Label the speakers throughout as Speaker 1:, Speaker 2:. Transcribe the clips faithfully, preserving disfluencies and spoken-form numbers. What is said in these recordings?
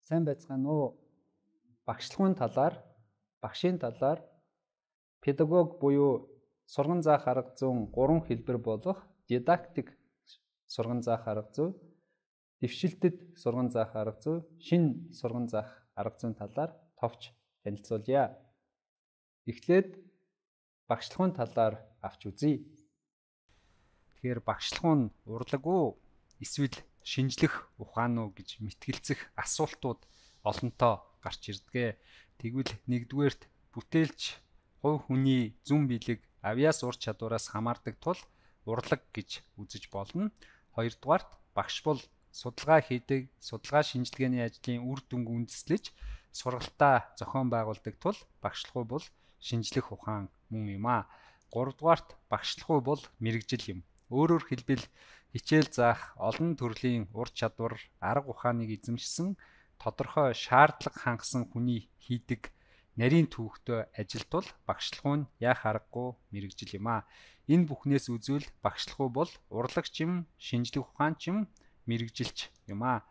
Speaker 1: Сайн байцгаана уу? Багшлагын талаар, багшийн талаар педагог буюу сурган заах арга зүйн гурван хэлбэр болох дидактик сурган заах арга зүй, дэвшилтэд сурган заах арга зүй, шинэ сурган заах арга зүйн талаар товч танилцуулъя. Эхлээд багшлагын талаар авч үзье. Тэгэхээр багшлах нь урлаг уу? Эсвэл шинжлэх ухаан уу гэж мэтгэлцэх асуултууд олонтоо гарч ирдэг. Тэгвэл нэгдүгээрт бүтээлч хувь хүний зүүн билег авьяас ур чадвараас хамаардаг тул урлаг гэж үзэж болно. Хоёрдугаарт багш бол судалгаа хийдэг, судалгаа шинжилгээний ажлын үр дүнг үндэслэж сургалтаа зохион байгуулдаг тул багшлах бол шинжлэх ухаан мөн юм аа. Гуравдугаарт багшлах бол мэрэгжил юм. Өөрөөр хэлбэл хичээл заах олон төрлийн ур чадвар, арга ухааныг эзэмшсэн тодорхой шаардлага хангасан хүний хийдэг нарийн түүхтэй ажил тул багшлах нь яах аргагүй мэрэгжил юм аа. Энэ бүхнээс үзвэл багшлах бол урлагч юм, шинжлэх ухаанч юм, мэрэгжилч юм аа.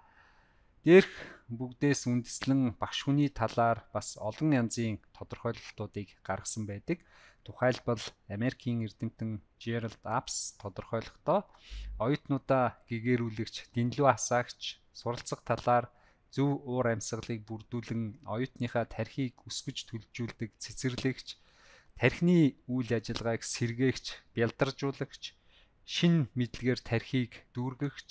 Speaker 1: Дээрх бүгдээс үндэслэн багш хүний талаар бас олон янзын тодорхойлолтуудыг гаргасан байдаг. Тухайлбал Америкийн эрдэмтэн Жеральд Апс тодорхойлохдоо оюутнуудаа гэгээрүүлэгч, дэнлүү хасаагч, суралцах талаар зөв уур амьсгалыг бүрдүүлэн оюутныхаа тархийг өсгөж төлөвжүүлдэг цэцэрлэгч, тархины үйл ажиллагааг сэргээгч, бялдаржуулагч, шин мэдлэгээр тархийг дүүргэгч,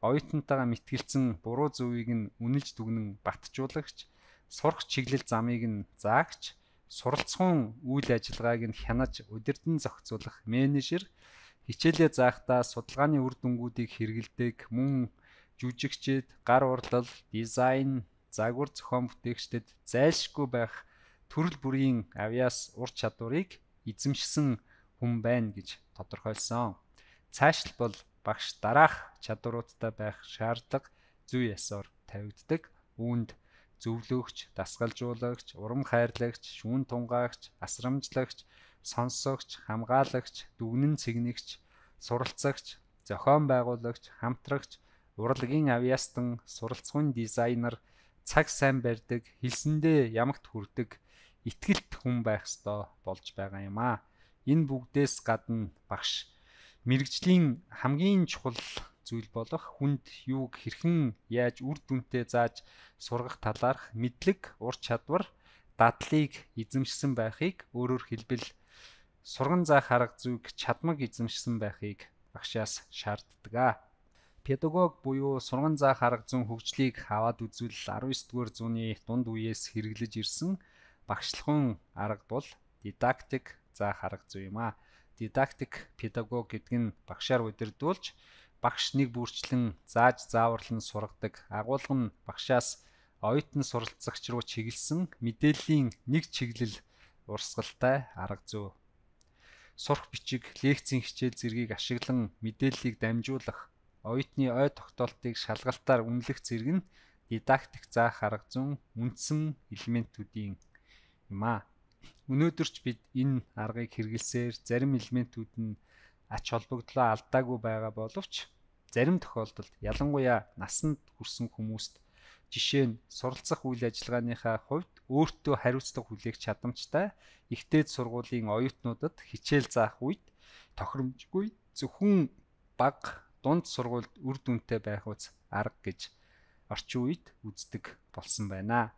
Speaker 1: оюутнуудаа мэтгэлцэн буруу зөвийг нь үнэлж дүгнэн батжуулагч, сурах чиглэл замыг нь заагч, суралцгын үйл ажиллагааг нь хянаж удирдан зохицуулах менежер, хичээлээ заахдаа судалгааны үр дүнгуудыг хэрэгэлдэг мөн жүжигчид, гар урлал, дизайн, загвар зохион бүтээгчдэд зайлшгүй байх төрөл бүрийн авьяас ур чадварыг эзэмшсэн хүн байна гэж тодорхойлсон. Цаашлбал багш дараах чадваруудтай байх шаардлага зүй ёсоор тавигддаг. Үүнд зөвлөгч, дасгалжуулагч, урам хайрлагч, шүүн тунгаагч, асрамжлагч, сонсогч, хамгаалагч, дүгнэн цэгнэгч, суралцагч, зохион байгуулагч, хамтрагч, урлагийн авьяастан, суралцгын дизайнер, цаг сайн барьдаг, хэлсэндээ ямагт хүрдэг, итгэлт хүн байх ёстой болж байгаа юм аа. Энэ бүгдээс гадна багш мэрэгжлийн хамгийн чухал зүйл болох хүнд юуг хэрхэн яаж үр дүнтэй зааж сургах талаарх мэдлэг, ур чадвар, дадлыг эзэмшсэн байхыг, өөрөөр хэлбэл сурган заах арга зүйг чадмаг эзэмшсэн байхыг багшаас шаарддаг. Педагог буюу сурган заах арга зүйн хөгжлийг аваад үзвэл арван есдүгээр зууны дунд үеэс хэрэглэж ирсэн багшлахын арга бол дидактик заах арга зүй юм аа. Дидактик педагог гэдэг нь багшаар удирдуулж багш нэг бүрчлэн зааж зааварлан сургадаг. Агуулга нь багшаас оюутан суралцагч руу чиглэсэн мэдээллийн нэг чиглэл урсгалтай арга зүй. Сурах бичиг, лекцийн хичээл зэргийг ашиглан мэдээллийг дамжуулах, оюутны ой тогтоолтыг шалгалтаар үнэлэх зэрэг нь дидактик заах арга зүйн үндсэн элементүүдийн юм аа. Өнөөдөрч бид энэ аргыг хэрэглэсээр зарим элементүүд нь ач холбогдлоо алдаагүй байгаа боловч зарим тохиолдолд ялангуяа насанд хүрсэн хүмүүст жишээ нь суралцах үйл ажиллагааныхаа хувьд өөртөө хариуцлага хүлээх чадамжтай ихтэйд сургуулийн оюутнуудад хичээл заах үед тохиромжгүй зөвхөн бага дунд сургуульд үр дүнтэй байх үз арга гэж орчин үед үздэг болсон байна.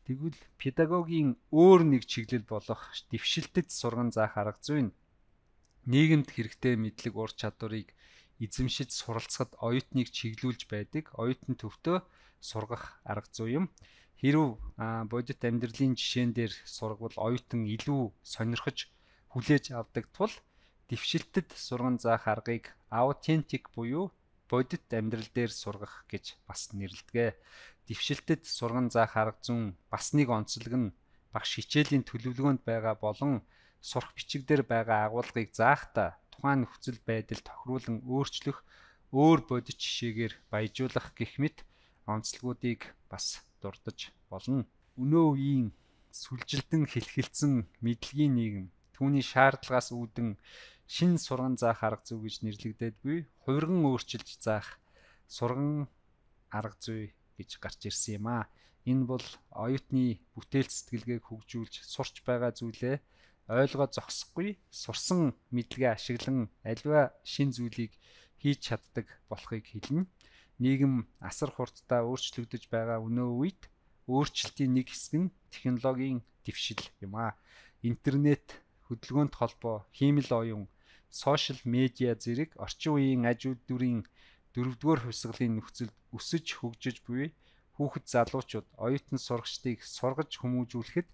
Speaker 1: Тэгвэл педагогийн өөр нэг чиглэл болох дэвшилтэд сурган заах арга зүй нь нийгэмд хэрэгтэй мэдлэг ур чадварыг эзэмшиж суралцахад оюутныг чиглүүлж байдаг оюутан төвтэй сургах арга зүй юм. Хэрв бодит амьдралын жишээн дээр сургавал оюутан илүү сонирхож хүлээж авдаг тул дэвшилтэд сурган заах аргыг аутентик буюу бодит амьдрал дээр сургах гэж бас нэрлэдэг. Дэвшилтэд сурган заах арга зүйн бас нэг онцлог нь багш хичээлийн төлөвлөгөөнд байгаа болон сурах бичиг дээр байгаа агуулгыг заахдаа тухайн нөхцөл байдал тохируулан өөрчлөх, өөр бодит жишээгээр баяжуулах гэх мэт онцлогуудыг бас дурдж болно. Өнөө үеийн сүлжилтэн хэлхэлцэн мэдлэгийн нийгэм түүний шаардлагаас үүдэн шин сурган заах арга зүй гэж нэрлэгдээд буй хувирган өөрчилж заах сурган арга зүй гэж гарч ирсэн юм аа. Энэ бол оюутны бүтээл сэтгэлгээг хөгжүүлж сурч байгаа зүйлээ ойлгоод зогсохгүй сурсан мэдлэгээ ашиглан аливаа шин зүйлийг хийж чаддаг болохыг хэлнэ. Нийгэм асар хурдтай өөрчлөгдөж байгаа өнөө үед өөрчлөлтийн нэг хэсэг нь технологийн дэвшил юм а. Интернет, хөдөлгөөнт холбоо, хиймэл оюун, сошиал медиа зэрэг орчин үеийн аж үйлдвэрийн дөрөвдүгээр хувьсгалын нөхцөлд өсөж хөгжиж буй хүүхэд залуучууд оюутан сурагчдыг сургаж хүмүүжүүлэхэд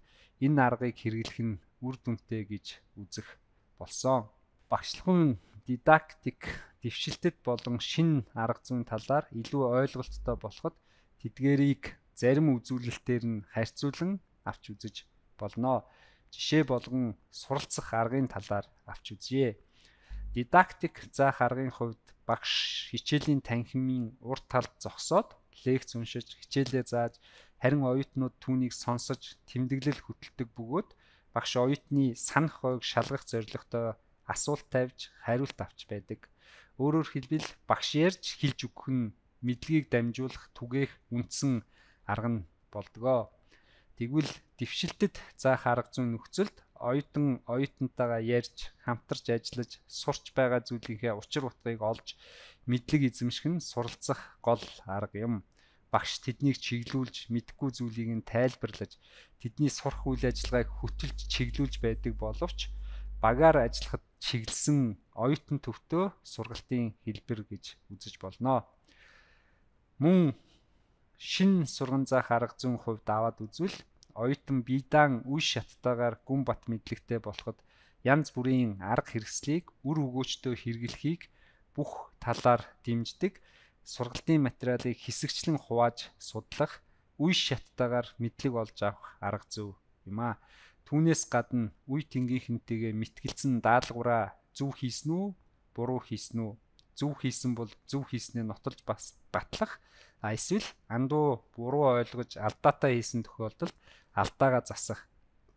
Speaker 1: энэ аргыг хэрэглэх нь үр дүнтэй гэж үзэх болсон. Багшлахуйн дидактик дэвшилтэд болон шинэ арга зүйн талаар илүү ойлголттой болоход тэдгээрийг зарим үзүүлэлтээр нь харьцуулан авч үзэж болно. Жишээ болгон суралцах аргын талаар авч үзье. Дидактик заах аргын хувьд багш хичээлийн танхимын урт талд зогсоод лекц уншиж хичээлээ зааж харин оюутнууд түүнийг сонсож тэмдэглэл хөтэлдэг бөгөөд багш оюутны санах хойг шалгах зорилготой асуулт тавьж хариулт авч байдаг. Өөрөөр хэлбэл багш ярьж хэлж өгөх нь мэдлэгийг дамжуулах түгээх үндсэн арга нь болдгоо. Тэгвэл дэвшилтэд заах арга зүйн нөхцөлд оюутан оюутантайгаа ярьж хамтарч ажиллаж сурч байгаа зүйлийнхээ учир утгыг олж мэдлэг эзэмших нь суралцах гол арга юм. Багш тэднийг чиглүүлж мэдэхгүй зүйлийг нь тайлбарлаж тэдний сурах үйл ажиллагааг хөтөлж чиглүүлж байдаг боловч багаар ажиллахад чиглэсэн оюутан төвтөө сургалтын хэлбэр гэж үзэж болно. Мөн шин сурган заах арга зүйн хувьд аваад үзвэл оюутан биедаан үе шаттайгаар гүн бат мэдлэгтэй болоход янз бүрийн арга хэрэгслийг үр өгөөчтөө хэрэглэхийг бүх талаар дэмждэг сургалтын материалыг хэсэгчлэн хувааж судлах үе шаттайгаар мэдлэг олж авах арга зүй юм а. Түүнээс гадна үе тэнгийнхэнтэйгээ мэтгэлцэн даалгавраа зөв хийсэн үү, буруу хийсэн үү? Зөв хийсэн бол зөв хийснээ нотолж батлах, а эсвэл андуу буруу ойлгож алдаатай хийсэн тохиолдолд алдаагаа засах.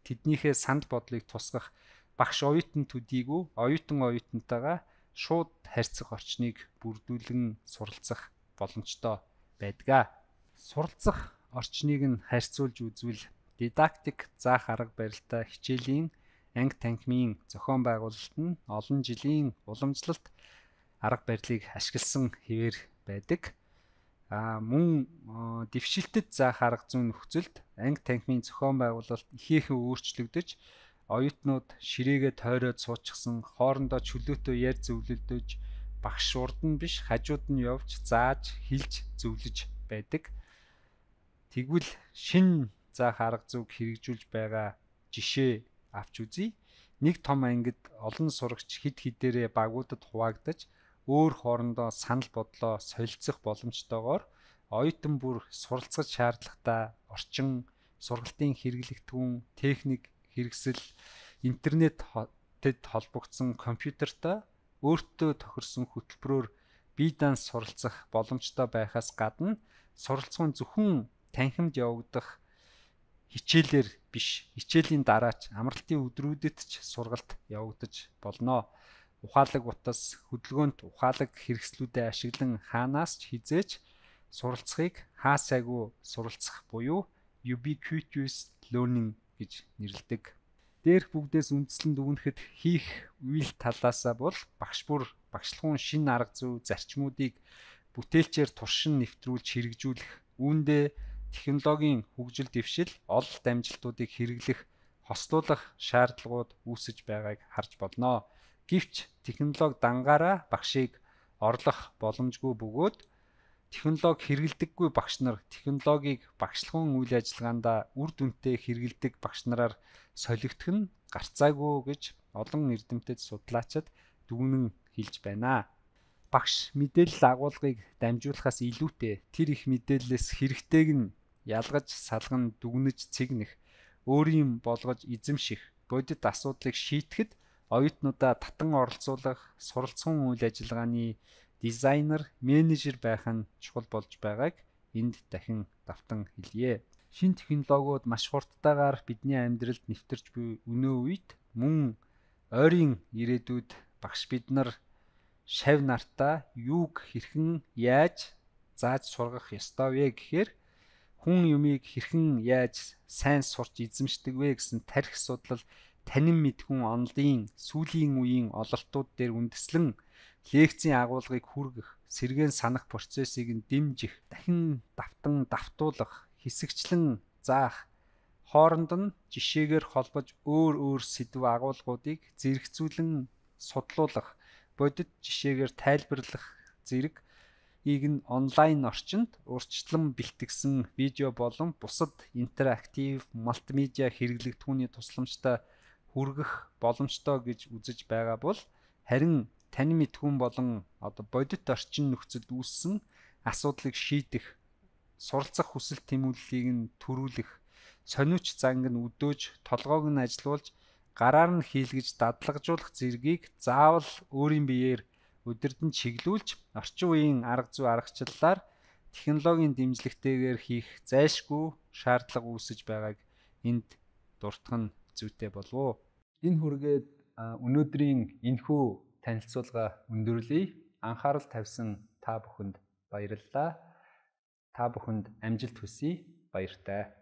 Speaker 1: Тэднийхээ санал бодлыг тусгах багш оюутан төдийгүй оюутан оюутантайгаа шууд харьцах орчныг бүрдүүлэн суралцах боломжтой байдаг. Суралцах орчныг нь харьцуулж үзвэл дидактик заах арга барилтай хичээлийн анги танхимын зохион байгуулалт нь олон жилийн уламжлалт арга барилыг ашигласан хэвээр байдаг. А мөн дэвшилтэд заах арга зүйн нөхцөлд анги танхимын зохион байгуулалт ихээхэн өөрчлөгдөж оюутнууд ширээгээ тойроод суучихсан хоорондоо чөлөөтэй ярьж зөвлөлдөж багш урд нь биш хажууд нь явж зааж хэлж зөвлөж байдаг. Тэгвэл шин заах арга зүйг хэрэгжүүлж байгаа жишээ авч үзье. Нэг том ангид олон сурагч хэд хэдээрээ багуудад хуваагдаж өөр хоорондоо санал бодлоо солилцох боломжтойгоор оюутан бүр суралцах шаардлагатай орчин, сургалтын хэрэглэгдэхүүн, техник, хэрэгсэл, интернетэд холбогдсон компьютертой өөртөө тохирсон хөтөлбөрөөр бие даан суралцах боломжтой байхаас гадна суралцсан зөвхөн танхимд явагдах хичээлээр биш, хичээлийн дараач амралтын өдрүүдэд ч сургалт явагдаж болно. Ухаалаг утас, хөдөлгөөнт ухаалаг хэрэгслүүдэд ашиглан хаанаас ч хизээж суралцахыг хаасайгүй суралцах буюу ubiquitous learning гэж нэрлэдэг. Дээрх бүгдээс үндэслэн дүгнэхэд хийх үйл талаасаа бол багш бүр багшлахуун шинэ арга зүй зарчмуудыг бүтээлчээр туршин нэвтрүүлж хэрэгжүүлэх, үүндээ технологийн хөгжил дэвшил, ололт амжилтуудыг хэрэглэх, хослуулах шаардлагууд үүсэж байгааг харж болно. Гэвч технологи дангаараа багшийг орлох боломжгүй бөгөөд технологи хэрэглэдэггүй багш нар технологиг багшлахуун үйл ажиллагаанд үр дүнтэй хэрэглэдэг багш нараар солигдох нь гарцаагүй гэж олон эрдэмтэд судлаачид дүгнэн хэлж байна. Багш мэдээлэл агуулгыг дамжуулахаас илүүтэй тэр их мэдээллээс хэрэгтэйг нь ялгаж салган дүгнэж цэгнэх, өөрийн болгож эзэмших, бодит асуудлыг шийдэхэд оюутнуудаа татан оролцуулах, суралцсан үйл ажиллагааны дизайнер, менежер байх нь чухал болж байгааг энд дахин давтан хэлье. Шинэ технологиуд маш хурдтайгаар бидний амьдралд нэвтэрч буй өнөө үед мөн ойрын ирээдүйд багш бид нар шав нартаа юуг хэрхэн яаж зааж сургах ёстой вэ гэхээр хүн юмыг хэрхэн яаж сайн сурч эзэмшдэг вэ гэсэн тарих судлал танин мэдхүн онлын сүүлийн үеийн ололтууд дээр үндэслэн лекцийн агуулгыг хүргэх, сэргээн санах процессыг нь дэмжих, дахин давтан давтуулах, хэсэгчлэн заах, хооронд нь жишээгээр холбож өөр өөр сэдв агуулгуудыг зэрэгцүүлэн судлуулах, бодит жишээгээр тайлбарлах зэрэг ийг нь онлайн орчинд урьдчилан бэлтгэсэн видео болон бусад интерактив мультимедиа хэрэглэгдэхүүний тусламжтай хүргэх боломжтой гэж үзэж байгаа бол харин танин мэдхүн болон одоо бодит орчин нөхцөлд үүссэн асуудлыг шийдэх, суралцах хүсэл тэмүүллийг нь төрүүлэх, сониуч занг нь өдөөж, толгойг нь ажилуулж, гараар нь хийлгэж дадлагжуулах зэргийг заавал өөрийн биеэр удирдан чиглүүлж, орчин үеийн арга зүй аргачлалаар технологийн дэмжлэгтэйгээр хийх зайлшгүй шаардлага үүсэж байгааг энд дурдах нь зүйтэй болов уу? Энэ хүргээд өнөөдрийн энэхүү танилцуулга өндөрлөе. Анхаарал тавьсан та бүхэнд баярлалаа. Та бүхэнд амжилт хүсье. Баяртай.